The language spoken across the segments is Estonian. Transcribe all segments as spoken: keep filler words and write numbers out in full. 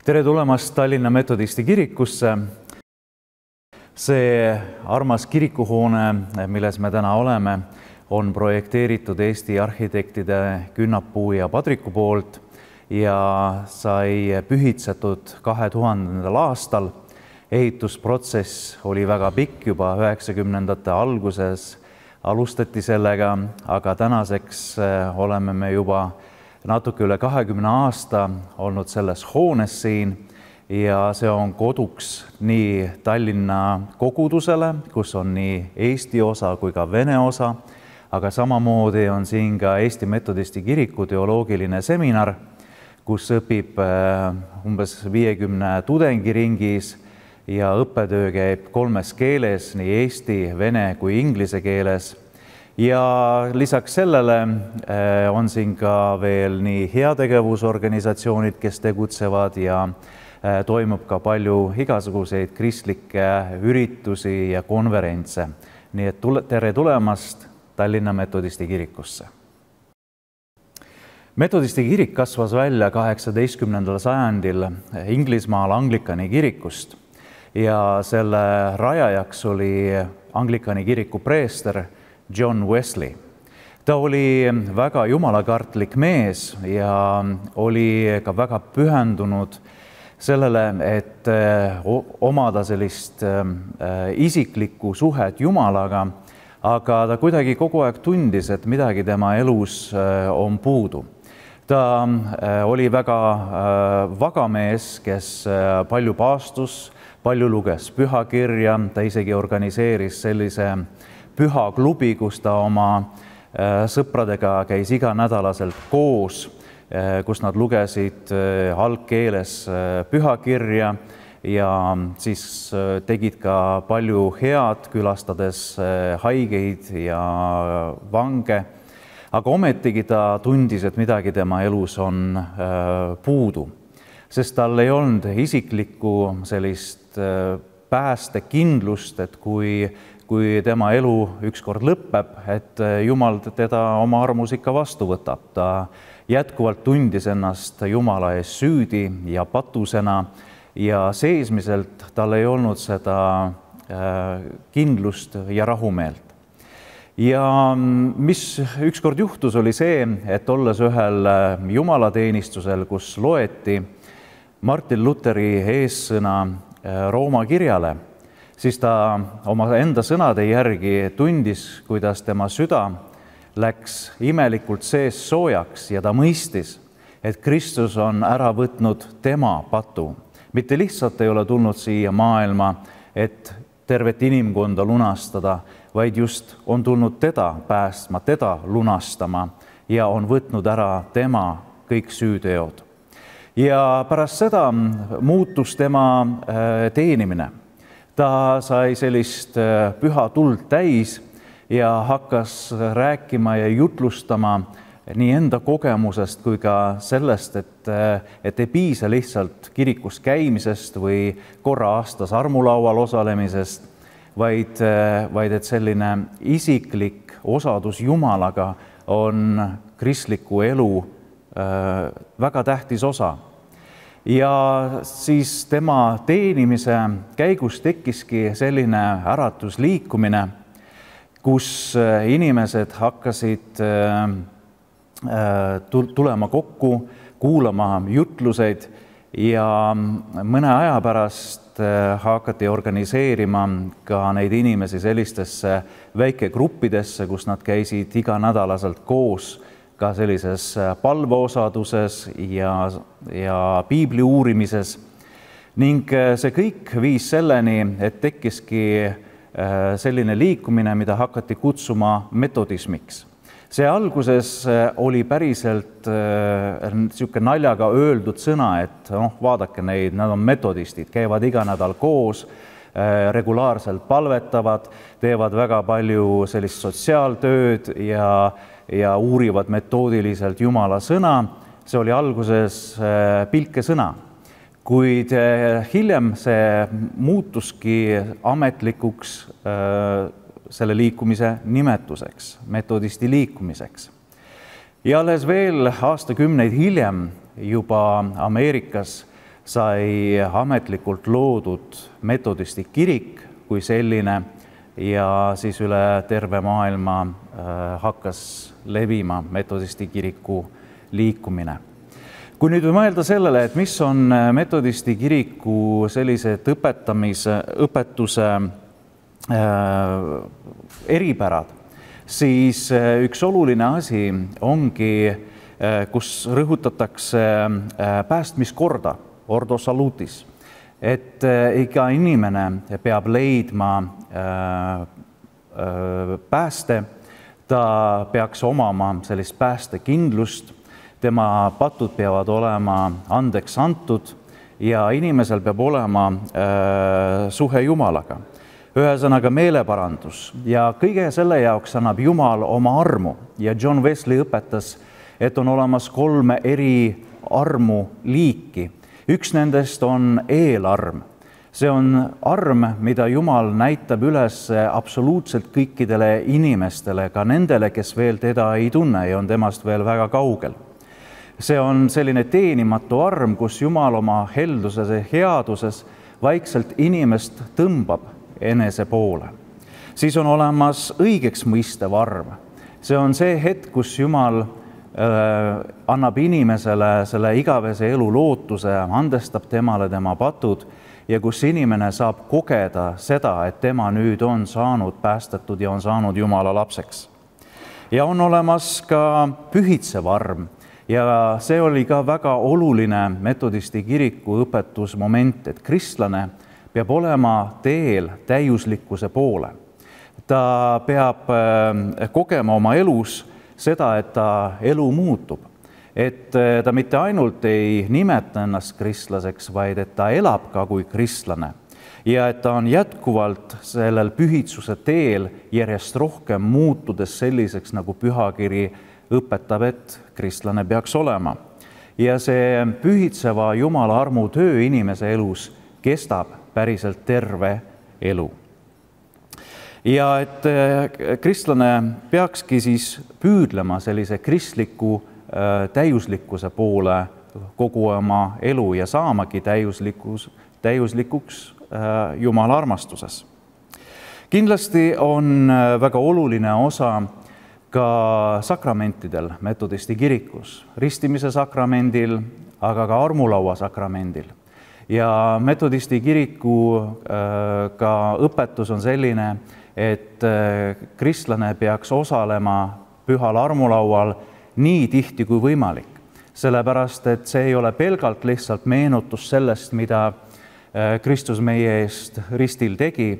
Tere tulemast Tallinna Metodisti kirikusse. See armas kirikuhoone, milles me täna oleme, on projekteeritud Eesti arhitektide Künnapuu ja Padriku poolt ja sai pühitsetud kahe tuhandendal aastal. Ehitusprotsess oli väga pikk, juba üheksakümnendate alguses alustati sellega, aga tänaseks oleme me juba natuke üle kahekümne aasta olnud selles hoones siin ja see on koduks nii Tallinna kogudusele, kus on nii Eesti osa kui ka Vene osa, aga samamoodi on siin ka Eesti Metodisti kiriku teoloogiline seminar, kus õpib umbes viiekümne tudengi ringis ja õppetöö käib kolmes keeles, nii eesti, vene kui inglise keeles. Ja lisaks sellele on siin ka veel nii heategevusorganisatsioonid, kes tegutsevad ja toimub ka palju igasuguseid kristlikke üritusi ja konverentse. Nii et tere tulemast Tallinna Metodisti kirikusse. Metodisti kirik kasvas välja kaheksateistkümnendal sajandil Inglismaal Anglikani kirikust ja selle rajajaks oli Anglikani kiriku preester John Wesley. Ta oli väga jumalakartlik mees ja oli ka väga pühendunud sellele, et omada sellist isiklikku suhet Jumalaga, aga ta kuidagi kogu aeg tundis, et midagi tema elus on puudu. Ta oli väga vaga mees, kes palju paastus, palju luges pühakirja, ta isegi organiseeris sellise pühaklubi, kus ta oma sõpradega käis iganädalaselt koos, kus nad lugesid algkeeles pühakirja ja siis tegid ka palju head, külastades haigeid ja vange. Aga ometigi ta tundis, et midagi tema elus on puudu, sest tal ei olnud isiklikku sellist päästekindlust, et kui kui tema elu ükskord lõpeb, et Jumal teda oma armus ikka vastu võtab. Ta jätkuvalt tundis ennast Jumala ees süüdi ja patusena ja seesmiselt tal ei olnud seda kindlust ja rahumeelt. Ja mis ükskord juhtus, oli see, et olles ühel jumalateenistusel, kus loeti Martin Lutheri eessõna Rooma kirjale, siis ta oma enda sõnade järgi tundis, kuidas tema süda läks imelikult sees soojaks ja ta mõistis, et Kristus on ära võtnud tema patu. Mitte lihtsalt ei ole tulnud siia maailma, et tervet inimkonda lunastada, vaid just on tulnud teda päästma, teda lunastama ja on võtnud ära tema kõik süüteod. Ja pärast seda muutus tema teenimine. Ta sai sellist püha tuld täis ja hakkas rääkima ja jutlustama nii enda kogemusest kui ka sellest, et, et ei piisa lihtsalt kirikus käimisest või korra aastas armulaual osalemisest, vaid, vaid et selline isiklik osadus Jumalaga on kristliku elu väga tähtis osa. Ja siis tema teenimise käigus tekkiski selline äratusliikumine, kus inimesed hakkasid tulema kokku, kuulama jutluseid ja mõne aja pärast hakati organiseerima ka neid inimesi sellistesse väikegruppidesse, kus nad käisid iganädalaselt koos ka sellises palveosaduses ja, ja piibli uurimises. Ning see kõik viis selleni, et tekkiski selline liikumine, mida hakati kutsuma metodismiks. See alguses oli päriselt niisugune naljaga öeldud sõna, et noh, vaadake neid, nad on metodistid, käivad iga nädal koos, regulaarselt palvetavad, teevad väga palju sellist sotsiaaltööd ja ja uurivad metoodiliselt Jumala sõna. See oli alguses pilkesõna, kuid hiljem see muutuski ametlikuks selle liikumise nimetuseks, metodisti liikumiseks. Ja alles veel aastakümneid hiljem juba Ameerikas sai ametlikult loodud metodisti kirik kui selline ja siis üle terve maailma hakkas levima metodisti kiriku liikumine. Kui nüüd mõelda sellele, et mis on metodisti kiriku sellised õpetamise, õpetuse eripärad, siis üks oluline asi ongi, kus rõhutatakse päästmiskorda, ordo salutis, et iga inimene peab leidma pääste, ta peaks omama sellist päästekindlust, tema patud peavad olema andeks antud ja inimesel peab olema suhe Jumalaga. Ühesõnaga meeleparandus ja kõige selle jaoks annab Jumal oma armu ja John Wesley õpetas, et on olemas kolme eri armu liiki. Üks nendest on eelarm. See on arm, mida Jumal näitab üles absoluutselt kõikidele inimestele, ka nendele, kes veel teda ei tunne ja on temast veel väga kaugel. See on selline teenimatu arm, kus Jumal oma helduses ja headuses vaikselt inimest tõmbab enese poole. Siis on olemas õigeks mõistev arm. See on see hetk, kus Jumal annab inimesele selle igavese elu lootuse, andestab temale tema patud ja kus inimene saab kogeda seda, et tema nüüd on saanud päästetud ja on saanud Jumala lapseks. Ja on olemas ka pühitsev arm ja see oli ka väga oluline metodisti kiriku õpetusmoment, et kristlane peab olema teel täiuslikkuse poole. Ta peab kogema oma elus seda, et ta elu muutub, et ta mitte ainult ei nimeta ennast kristlaseks, vaid et ta elab ka kui kristlane ja et ta on jätkuvalt sellel pühitsuse teel järjest rohkem muutudes selliseks, nagu pühakiri õpetab, et kristlane peaks olema. Ja see pühitseva Jumala armu töö inimese elus kestab päriselt terve elu. Ja et kristlane peakski siis püüdlema sellise kristliku täiuslikkuse poole kogu oma elu ja saamagi täiuslikus, täiuslikuks Jumala armastuses. Kindlasti on väga oluline osa ka sakramentidel metodisti kirikus, ristimise sakramendil, aga ka armulaua sakramendil. Ja metodisti kiriku ka õpetus on selline, et kristlane peaks osalema pühal armulaual nii tihti kui võimalik, sellepärast et see ei ole pelgalt lihtsalt meenutus sellest, mida Kristus meie eest ristil tegi,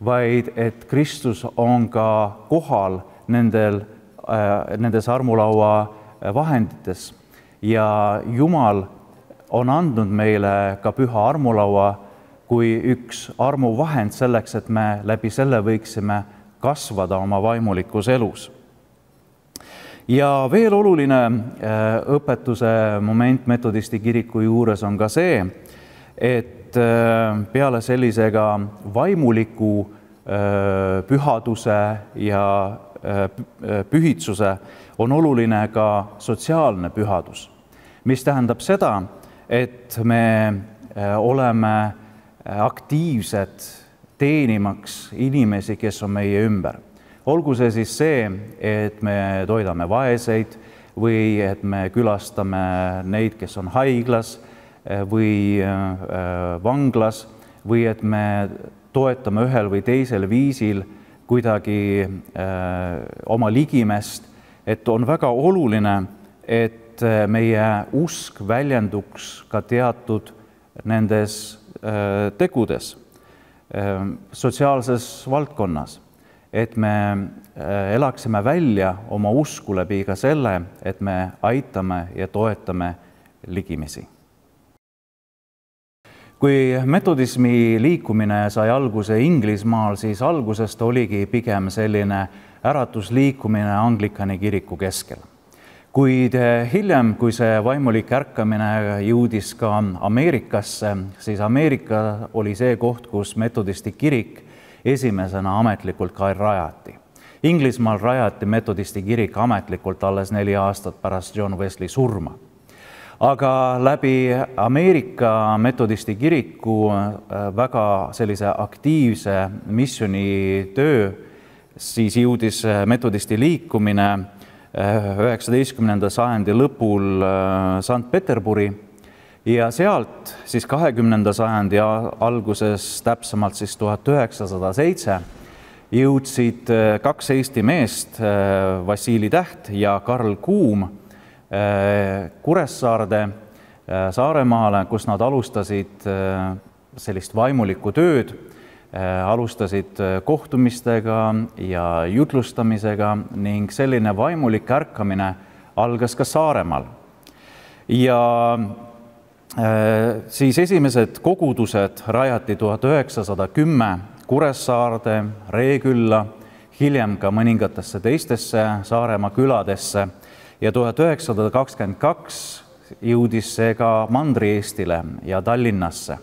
vaid et Kristus on ka kohal nendel, nendes armulaua vahendites ja Jumal on andnud meile ka püha armulaua kui üks armuvahend selleks, et me läbi selle võiksime kasvada oma vaimulikus elus. Ja veel oluline õpetuse moment metodisti kiriku juures on ka see, et peale sellisega vaimuliku pühaduse ja pühitsuse on oluline ka sotsiaalne pühadus, mis tähendab seda, et me oleme aktiivsed teenimaks inimesi, kes on meie ümber. Olgu see siis see, et me toidame vaeseid või et me külastame neid, kes on haiglas või vanglas või et me toetame ühel või teisel viisil kuidagi oma ligimest, et on väga oluline, et meie usk väljenduks ka teatud nendes tegudes sotsiaalses valdkonnas, et me elaksime välja oma usku läbi ka selle, et me aitame ja toetame ligimisi. Kui metodismi liikumine sai alguse Inglismaal, siis algusest oligi pigem selline äratusliikumine Anglikani kiriku keskel. Kuid hiljem, kui see vaimulik ärkamine jõudis ka Ameerikasse, siis Ameerika oli see koht, kus metodisti kirik esimesena ametlikult ka rajati. Inglismaal rajati metodisti kirik ametlikult alles neli aastat pärast John Wesley surma. aga läbi Ameerika metodisti kiriku väga sellise aktiivse missioonitöö siis jõudis metodisti liikumine üheksateistkümnenda sajandi lõpul Sankt-Peterburi ja sealt siis kahekümnenda sajandi alguses, täpsemalt siis tuhat üheksasada seitse, jõudsid kaks Eesti meest, Vassili Täht ja Karl Kuum, Kuressaarde, Saaremaale, kus nad alustasid sellist vaimulikku tööd, alustasid kohtumistega ja jutlustamisega ning selline vaimulik ärkamine algas ka Saaremaal. Ja siis esimesed kogudused rajati tuhat üheksasada kümme Kuressaarde, Reekülla, hiljem ka mõningatesse teistesse Saaremaa küladesse ja tuhat üheksasada kakskümmend kaks jõudis see ka Mandri-Eestile ja Tallinnasse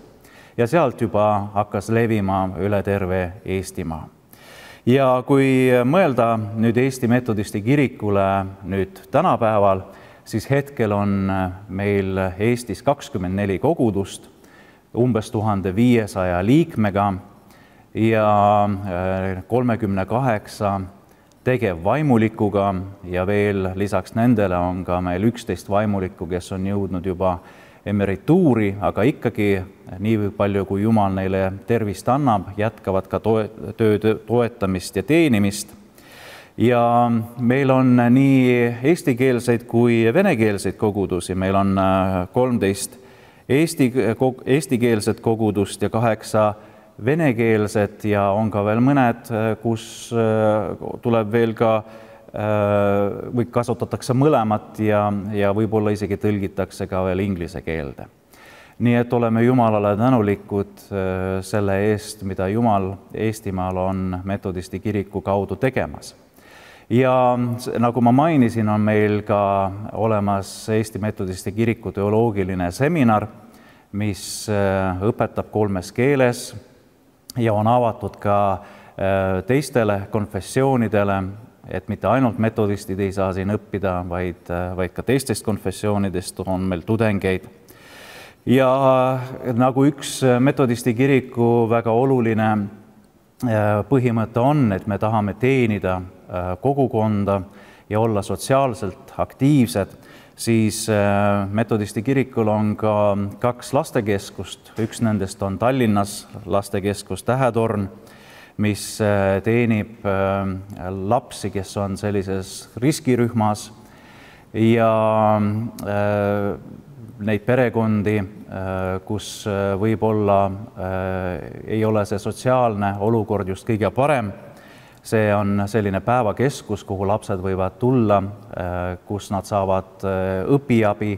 ja sealt juba hakkas levima üle terve Eestimaa. Ja kui mõelda nüüd Eesti metodisti kirikule nüüd tänapäeval, siis hetkel on meil Eestis kakskümmend neli kogudust, umbes tuhande viiesaja liikmega ja kolmekümne kaheksa tegevvaimulikuga ja veel lisaks nendele on ka meil üksteist vaimulikku, kes on jõudnud juba emerituuri, aga ikkagi nii palju, kui Jumal neile tervist annab, jätkavad ka töö toetamist ja teenimist. Ja meil on nii eestikeelseid kui venekeelseid kogudusi. Meil on kolmteist eesti, eestikeelset kogudust ja kaheksa venekeelset ja on ka veel mõned, kus tuleb veel ka või kasutatakse mõlemat ja, ja võib-olla isegi tõlgitakse ka veel inglise keelde. Nii et oleme Jumalale tänulikud selle eest, mida Jumal Eestimaal on metodisti kiriku kaudu tegemas. Ja nagu ma mainisin, on meil ka olemas Eesti metodisti kiriku teoloogiline seminar, mis õpetab kolmes keeles ja on avatud ka teistele konfessioonidele, et mitte ainult metodistid ei saa siin õppida, vaid, vaid ka teistest konfessioonidest on meil tudengeid. Ja nagu üks metodisti kiriku väga oluline põhimõte on, et me tahame teenida kogukonda ja olla sotsiaalselt aktiivsed, siis metodisti kirikul on ka kaks lastekeskust. Üks nendest on Tallinnas lastekeskus Tähetorn, mis teenib lapsi, kes on sellises riskirühmas ja neid perekondi, kus võib-olla ei ole see sotsiaalne olukord just kõige parem. See on selline päevakeskus, kuhu lapsed võivad tulla, kus nad saavad õpiabi,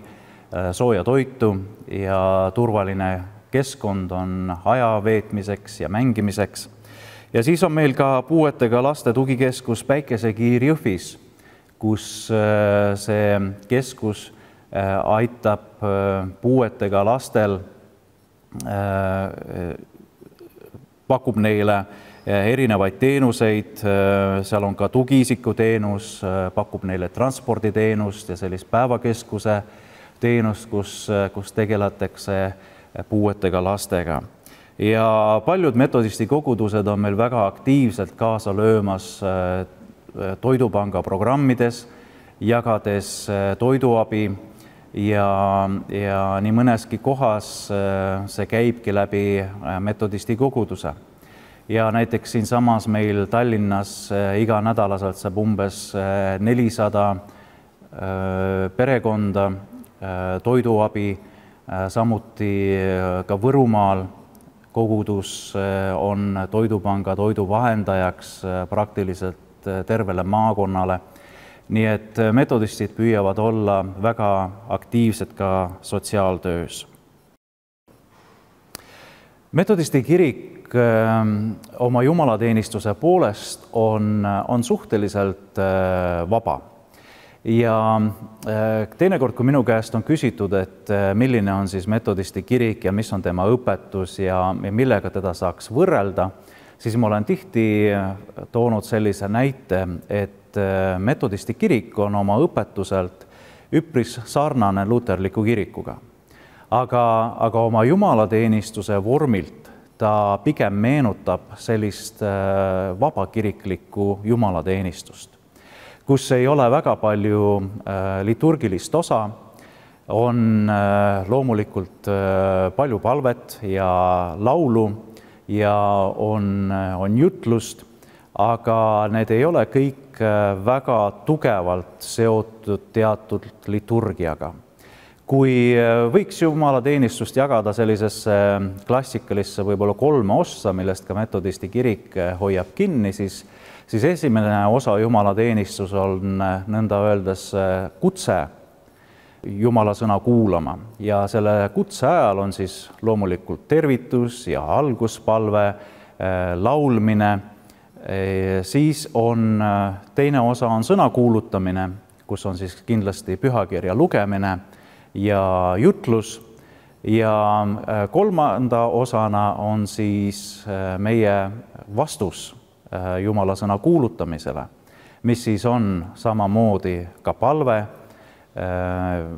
sooja toitu ja turvaline keskkond on aja veetmiseks ja mängimiseks. Ja siis on meil ka puuetega laste tugikeskus Päikesekiir Jõhvis, kus see keskus aitab puuetega lastel, pakub neile erinevaid teenuseid, seal on ka tugiisiku teenus, pakub neile transporditeenust ja sellist päevakeskuse teenust, kus, kus tegeletakse puuetega lastega. Ja paljud metodisti kogudused on meil väga aktiivselt kaasa löömas toidupanga programmides, jagades toiduabi ja, ja nii mõneski kohas see käibki läbi metodisti koguduse. Ja näiteks siinsamas meil Tallinnas iga nädalaselt saab umbes nelisada perekonda toiduabi, samuti ka Võrumaal kogudus on toidupanga toiduvahendajaks praktiliselt tervele maakonnale. Nii et metodistid püüavad olla väga aktiivsed ka sotsiaaltöös. Metodisti kirik oma jumalateenistuse poolest on, on suhteliselt vaba. Ja teinekord, kui minu käest on küsitud, et milline on siis metodisti kirik ja mis on tema õpetus ja millega teda saaks võrrelda, siis ma olen tihti toonud sellise näite, et metodisti kirik on oma õpetuselt üpris sarnane luterliku kirikuga. Aga, aga oma jumalateenistuse vormilt ta pigem meenutab sellist vabakiriklikku jumalateenistust, kus ei ole väga palju liturgilist osa, on loomulikult palju palvet ja laulu ja on, on jutlust, aga need ei ole kõik väga tugevalt seotud teatud liturgiaga. Kui võiks jumalateenistust jagada sellisesse klassikalisse võib-olla kolme ossa, millest ka metodisti kirik hoiab kinni, siis, siis esimene osa jumalateenistus on nõnda öeldes kutse Jumala sõna kuulama ja selle kutse ajal on siis loomulikult tervitus ja alguspalve, laulmine, siis on teine osa on sõna kuulutamine, kus on siis kindlasti pühakirja lugemine ja jutlus ja kolmanda osana on siis meie vastus Jumala sõna kuulutamisele, mis siis on samamoodi ka palve,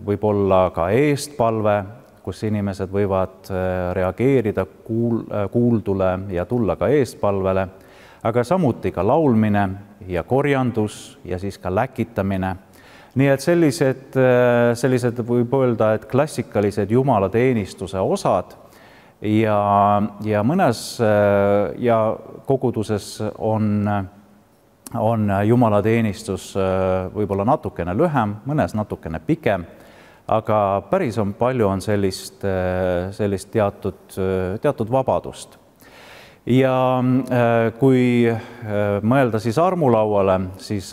võib-olla ka eestpalve, kus inimesed võivad reageerida kuul, kuuldule ja tulla ka eestpalvele, aga samuti ka laulmine ja korjandus ja siis ka läkitamine. Nii et sellised, sellised võib öelda, et klassikalised jumalateenistuse osad ja, ja mõnes ja koguduses on, on jumalateenistus võib-olla natukene lühem, mõnes natukene pikem, aga päris on palju on sellist, sellist teatud, teatud vabadust. Ja kui mõelda siis armulauale, siis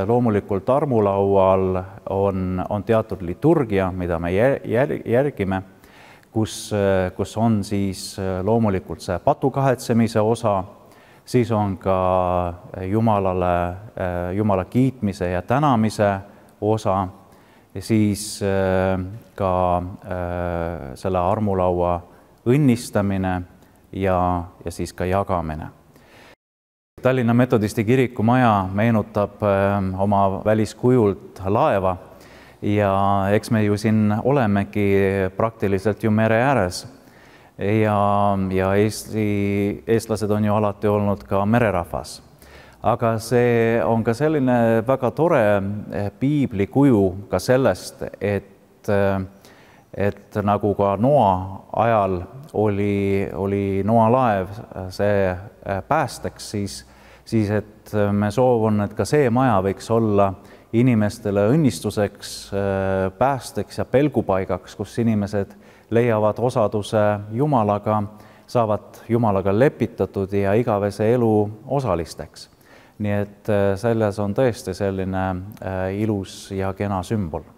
loomulikult armulaual on, on teatud liturgia, mida me järgime, kus, kus on siis loomulikult see patukahetsemise osa, siis on ka Jumalale, Jumala kiitmise ja tänamise osa, ja siis ka selle armulaua õnnistamine ja, ja siis ka jagamine. Tallinna metodisti kiriku maja meenutab oma väliskujult laeva ja eks me ju siin olemegi praktiliselt ju mere ääres ja, ja Eesti, eestlased on ju alati olnud ka mererahvas. Aga see on ka selline väga tore piiblikuju ka sellest, et et nagu ka Noa ajal oli, oli Noa laev see päästeks, siis, siis et me soov on, et ka see maja võiks olla inimestele õnnistuseks, päästeks ja pelgupaigaks, kus inimesed leiavad osaduse Jumalaga, saavad Jumalaga lepitatud ja igavese elu osalisteks. Nii et selles on tõesti selline ilus ja kena sümbol.